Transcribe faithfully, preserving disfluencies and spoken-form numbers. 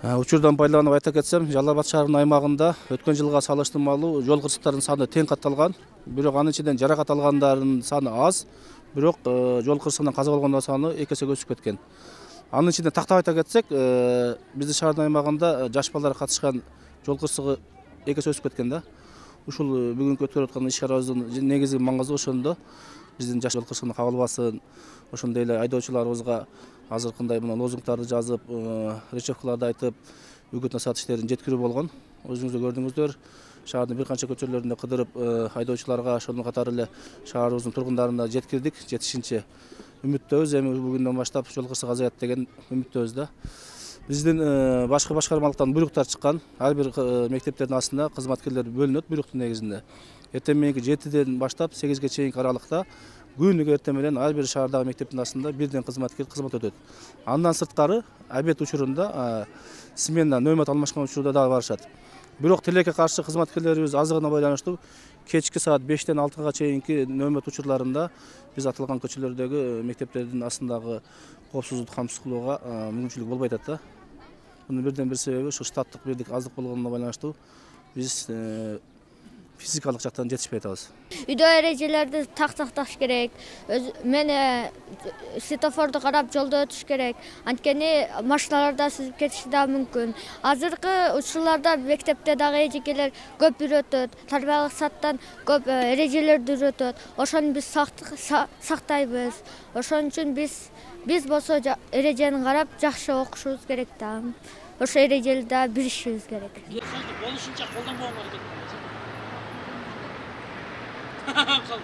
Учурдан пайдаланып айта кетсем, Жалал Абад шаарынын аймагында өткөн жылга салыштырмалуу жол кырсыктарынын саны тең катталган. Бирок анын ичинен жаракат алгандардын саны аз, бирок жол кырсыгынан каза болгондор саны эки эсеге өсүп кеткен. Анын ичинде тактап айта кетсек, биздин шаардын аймагында жаш балдар катышкан жол кырсыгы эки эсе өсүп кеткен да. Ушул бүгүнкү өткөрүп аткан иш-чарабыздын негизги маңызы ошондо. Биздин жаш жол кырсыгына кабылбасын, ошондой эле айдоочуларыбызга азыркындай мына лозунгтарды жазып, речевкаларды айтып, үгүт насаат иштерин жеткирүү болгон. Өзүңүздөр көрдүңүздөр, шаардын бир канча көчөлөрүндө кыдырып, айдоочуларга, ошондон катары эле шаарыбыздын тургундарына жеткирдик. Жетишинче үмүттөбүз, эми бүгүндөн баштап жол кырсыгы азаят деген үмүттөбүз да. Биздин башкы башкармалыктан буйруктар чыккан. Ар бир мектептердин астына кызматкерлер бөлүнөт буйруктун негизинде. Эртең мененки жетиден баштап сегизге чейинки аралыкта күнүгө эртең менен ар бир шаардагы мектептин астында бирден кызматкер кызмат өтөт. Андан сырткары обед учурунда смена нөмөт алмашкан учурда дагы барышат. Бирок тилекке каршы кызматкерлерибиз азыгына байланыштуу кечки саат бештен алтыга чейинки нөмөт учурларында биз аталган көчөлөрдөгү мектептердин астындагы коопсуздукту камсыз кылууга мүмкүнчүлүк болбой атат да. Мунун бирден бир себеби ушу штаттык бирлик аздык болгонуна байланыштуу биз физикалык жактан жетишпей атабыз. Үйдө эрежелерди тактакташ керек. Мен светофорду карап жолдо өтүш керек. Анткени машиналар да сүзүп кетиши да мүмкүн. Азыркы учурларда мектепте дагы эжекелер көп үйрөтөт. Тарбиялык саттан көп эрежелерди үйрөтөт. Ошону биз сактайбыз. Ошон үчүн биз биз болсо эрежени карап жакшы окушубуз керек да. Ошо эрежени да билишибиз керек. Болушунча колдонбогонго аракет кылабыз. Калды.